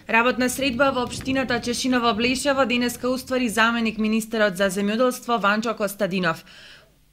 Работна средба во општината Чешиново Блешево денеска уствари заменик министерот за земјоделство Ванчо Костадинов.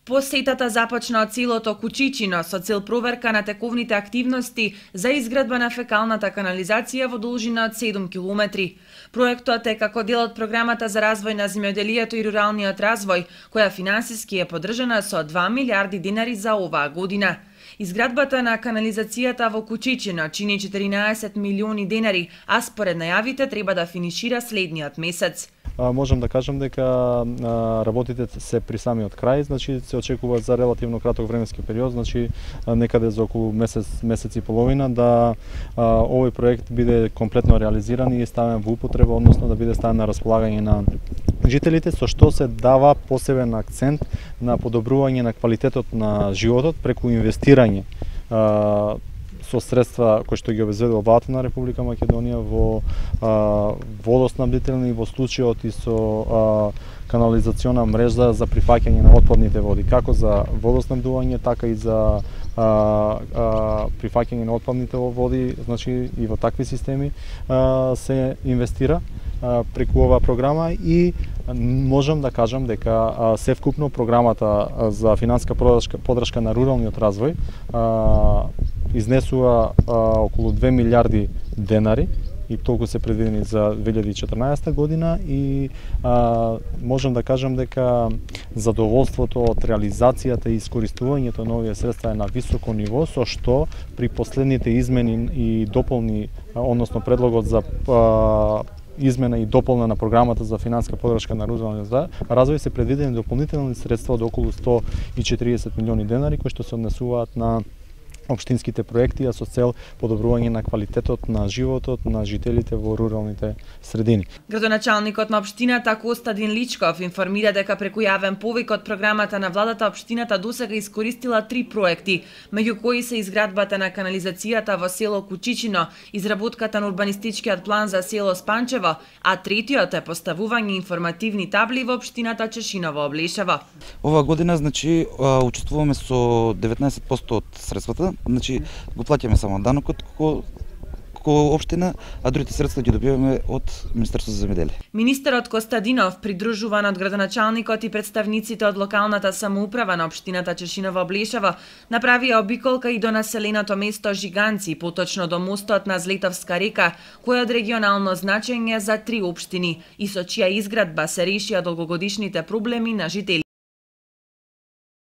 Посетата започна од селото Кучичино со цел проверка на тековните активности за изградба на фекалната канализација во должина од 7 километри. Проектот е како дел од програмата за развој на земјоделието и руралниот развој, која финансиски е поддржана со 2 милиарди денари за оваа година. Изградбата на канализацијата во Кучичино чини 14 милиони денари, а според најавите треба да финишира следниот месец. Можам да кажам дека работите се при самиот крај, значи се очекува за релативно краток временски период, значи некаде за околу месец и половина да овој проект биде комплетно реализиран и ставен во употреба, односно да биде ставен на располагање на жителите, со што се дава посебен акцент на подобрување на квалитетот на животот преку инвестирање со средства кои што ги обезбедува владата на Република Македонија во водоснабдителни, во случајот и со канализациона мрежа за прифаќање на отпадните води, како за водоснабдување, така и за прифаќање на отпадните води, значи и во такви системи се инвестира преку оваа програма и можам да кажам дека севкупно програмата за финансиска поддршка на руралниот развој изнесува околу 2 милиарди денари и толку се предвидени за 2014 година и можам да кажам дека задоволството од реализацијата и искористувањето на овие средства е на високо ниво, со што при последните измени и дополни, односно предлогот за измена и дополна на програмата за финансиска поддршка на руралниот развој се предвидени дополнителни средства од околу 140 милиони денари кои што се однесуваат на општинските проекти, а со цел подобрување на квалитетот на животот на жителите во руралните средини. Градоначалникот на општината Костадин Личков информира дека преку јавен повик од програмата на владата општината досега искористила 3 проекти, меѓу кои се изградбата на канализацијата во село Кучичино, изработката на урбанистичкиот план за село Спанчево, а третиот е поставување информативни табли во општината Чешиново Блешево. Оваа година значи учествуваме со 19% од средствата. Значи го плаќаме само данокот како општина, а другите средства ги добиваме од Министерството за земјоделие. Министерот Костадинов, придружуван од градоначалникот и представниците од локалната самоуправа на општината Чешиново Блешево, направија обиколка и до населеното место Жиганци, поточно до мостот на Злетовска река, кој е од регионално значење за 3 општини и со чија изградба се решија долгогодишните проблеми на жители.